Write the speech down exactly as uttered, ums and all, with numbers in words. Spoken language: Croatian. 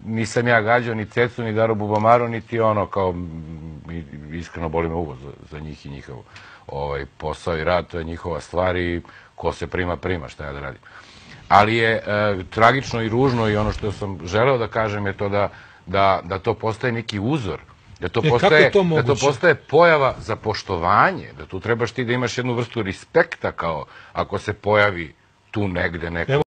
nisam ja gađao ni Cecu, ni Daru Bubamaru, niti ono kao, iskreno boli me uvo za njih i njihov posao i rad, to je njihova stvar i ko se prima, prima, šta ja da radim. Ali je tragično i ružno i ono što sam želeo da kažem je to da to postaje neki uzor, da to postaje pojava za poštovanje, da tu trebaš ti da imaš jednu vrstu respekta kao ako se pojavi tu negde neko